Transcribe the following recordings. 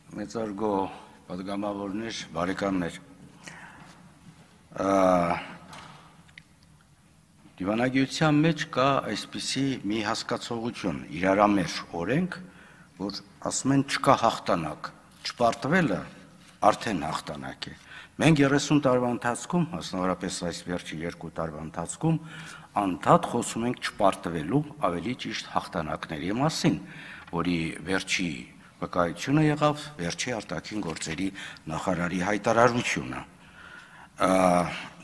Մեծարգո պատգամավորներ, բարեկամներ, դիվանագիտության մեջ կա այսպիսի մի հասկացողություն, իրարամերժ օրենք, որ ասում են չկա հաղթանակ, չպարտվելը արդեն հաղթանակ է։ Մենք 30 տարվա ընթացքում, մասնավորապես այս վերջի 2 տարվա ընթացքում, անդադ խոսում ենք չպարտվելու, ավելի ճիշտ հաղթանակների մասին, որի վերջի վկայությունը եղավ վերջի արտաքին գործերի նախարարի հայտարարությունը։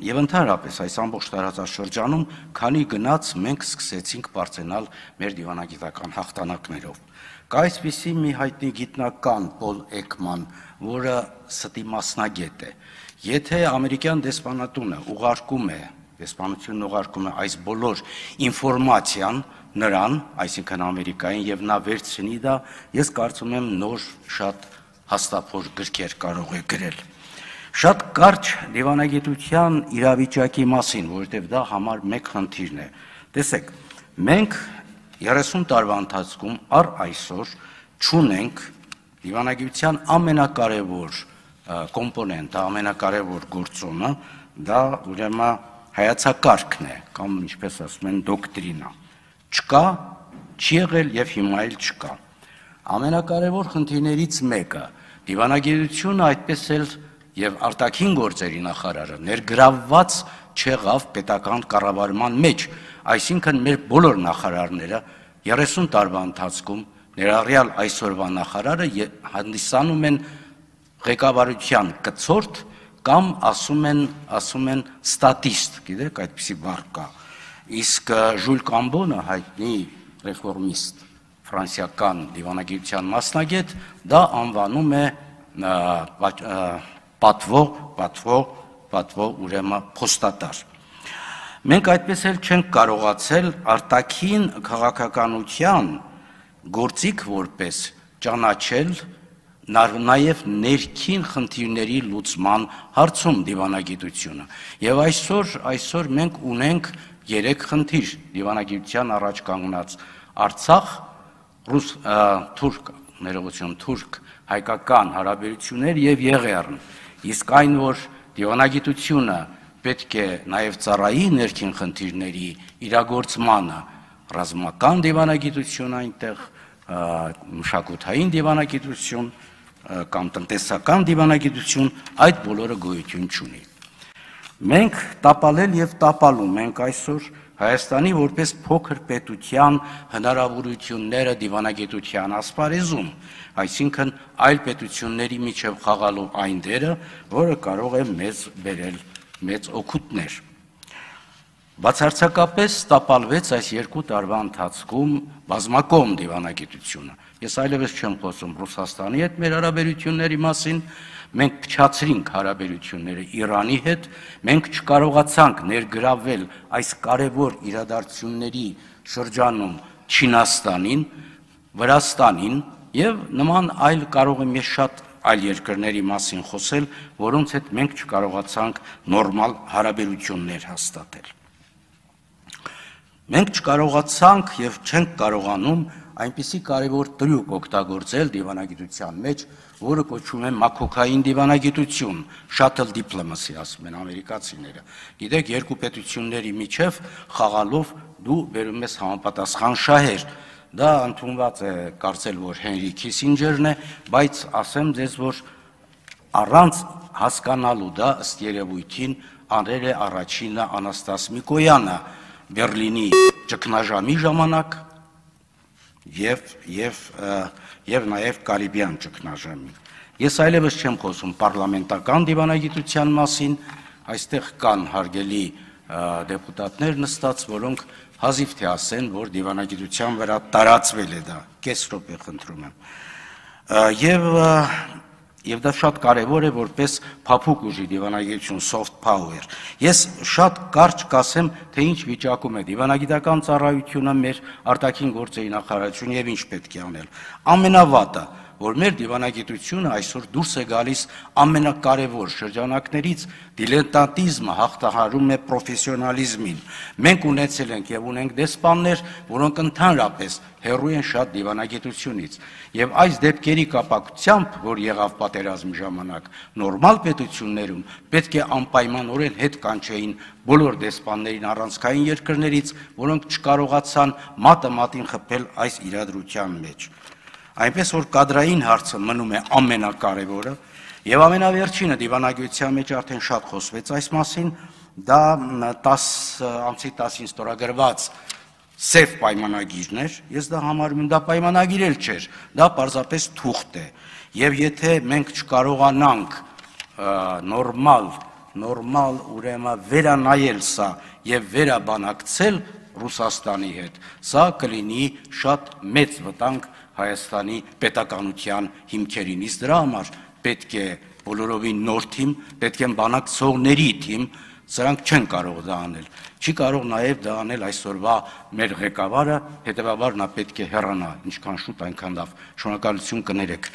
Եվ ընդհանրապես այս ամբողջ տարածաշրջանում քանի գնաց մենք սկսեցինք բարձրանալ մեր դիվանագիտական հաղթանակներով։ Կա այսպիսի մի հայտնի գիտնական Պոլ Էկման, որը ստի մասնագետ է։ Եթե ամերիկյան դեսպանատունը դեսպանությունն ուղարկում է այս բոլոր ինֆորմացիան նրան, այսինքն Ամերիկային, եւ նա վերցնի դա, ես կարծում եմ նոր շատ հաստափոր գրքեր կարող է գրել։ Շատ կարճ դիվանագիտության իրավիճակի մասին, որովհետև դա համար մեկ խնդիրն է։ Տեսեք, մենք 30 տարվա ընթացքում առ այսօր չունենք դիվանագիտության ամենակարևոր կոմպոնենտը, ամենակարևոր գործոնը, դա ուրեմն հայացակարգն է, կամ ինչպես ասում են դոկտրինա։ Չկա, չի եղել եւ հիմա էլ չկա։ Ամենակարևոր խնդիրներից մեկը դիվանագիտությունը այդպես էլ եւ արտաքին գործերի նախարարը ներգրավված չեղավ պետական կառավարման մեջ, այսինքն մեր բոլոր նախարարները 30 տարվա ընթացքում ներառյալ այսօրվա նախարարը հանդիսանում են ղեկավարության կցորդ կամ ասում են ստատիստ, գիտեք, այդպիսի բառ կա։ Իսկ Ժուլ Կամբոնը, հայտնի ռեֆորմիստ, ֆրանսիական դիվանագիտության մասնագետ, դա անվանում է պատվո ուրեմն փոստատար։ Մենք այդպես էլ չենք կարողացել արտաքին քաղաքականության գործիք որպես ճանաչել նաև ներքին խնդիրների լուծման հարցում դիվանագիտությունը։ Եվ այսօր մենք ունենք 3 խնդիր դիվանագիտության առաջ կանգնած Արցախ, թուրք հայկական հարաբերություններ եւ Եղեռն։ Իսկ այն, որ դիվանագիտությունը պետք է նաև ծառայի ներքին խնդիրների իրագործմանը, ռազմական դիվանագիտություն այնտեղ, մշակութային դիվանագիտություն կամ տնտեսական դիվանագիտություն, այդ բոլորը գոյություն չունի։ Մենք տապալել եւ տապալում ենք այսօր Հայաստանի որպես փոքր պետության հնարավորությունները դիվանագիտության ասպարեզում, այսինքն այլ պետությունների միջև խաղալու այն դերը, որը կարող է մեզ բերել մեծ օգուտներ։ Բացարձակապես տապալվեց այս 2 տարվա ընթացքում բազմակողմ դիվանագիտությունը։ Ես այլևս չեմ խոսում Ռուսաստանի հետ մեր հարաբերությունների մասին, մենք փչացրինք հարաբերությունները Իրանի հետ, մենք չկարողացանք ներգրավել այս կարևոր իրադարձությունների շրջանում Չինաստանին, Վրաստանին եւ նման այլ կարող եմ ես շատ այլ երկրների մասին խոսել, որոնց հետ մենք չկարողացանք նորմալ հարաբերություններ հաստատել։ Մենք չկարողացանք եւ չենք կարողանում այնպիսի կարևոր տրյուկ օգտագործել դիվանագիտության մեջ, որը կոչվում է մաքոքային դիվանագիտություն, shuttle diplomacy ասում են ամերիկացիները։ Գիտեք, երկու պետությունների միջև խաղալով դու բերում ես համապատասխան շահեր։ Դա ընդունված է կարծել, որ Հենրի Քիսինջերն է, բայց ասեմ ձեզ, որ առանց հասկանալու դա ըստ երևույթին անել է առաջինը Անաստաս Միկոյանը Բերլինի ճգնաժամի ժամանակ եւ նաեւ Կարիբյան ճգնաժամի։ Ես այլևս չեմ խոսում պարլամենտական դիվանագիտության մասին, այստեղ կան հարգելի դեպուտատներ նստած, որոնք հազիվ թե ասեն, որ դիվանագիտության վրա տարածվել է դա, կես րոպե խնդրում եմ։ Եվ դա շատ կարևոր է որպես փափուկ ուժի դիվանագիտություն, soft power։ Ես շատ կարճ կասեմ, թե ինչ վիճակում է դիվանագիտական ծառայությունը մեր արտաքին գործերի նախարարությունը եւ ինչ պետք է անել։ Ամենավատը որ մեր դիվանագիտությունը այսօր դուրս է գալիս ամենակարևոր շրջանակներից, դիլետանտիզմը հաղթահարում է պրոֆեսիոնալիզմին։ Մենք ունեցել ենք եւ ունենք դեսպաններ, որոնք ընդհանրապես հեռու են շատ դիվանագիտությունից։ Եվ այս դեպքերի կապակցությամբ, որ եղավ պատերազմի ժամանակ, նորմալ պետություններում պետք է անպայմանորեն հետ կանչեին բոլոր դեսպաններին առանցքային երկրներից, որոնք չկարողացան մատը մատին խփել այս իրադրության մեջ։ Այնպես որ կադրային հարցը մնում է ամենակարևորը, եւ ամենավերջինը դիվանագիտության մեջ արդեն շատ խոսվեց այս մասին, դա 10 ամսի 10-ին ստորագրված սև պայմանագիրն էր, ես դա համարում եմ, դա պայմանագիր էլ չէր, դա պարզապես թուղթ է, եւ եթե մենք չկարողանանք նորմալ ուրեմն վերանայել սա եւ վերաբանակցել Ռուսաստանի հետ, սա կլինի շատ մեծ վտանգ Հայաստանի պետականության հիմքերին, իսկ դրա համար պետք է բոլորովին նոր թիմ, պետք է բանակցողների թիմ, սրանք չեն կարող դա անել, չի կարող նաև դա անել այսօրվա մեր ղեկավարը, հետևաբար նա պետք է հեռանա, ինչքան շուտ այնքան լավ, շնորհակալություն կներեք։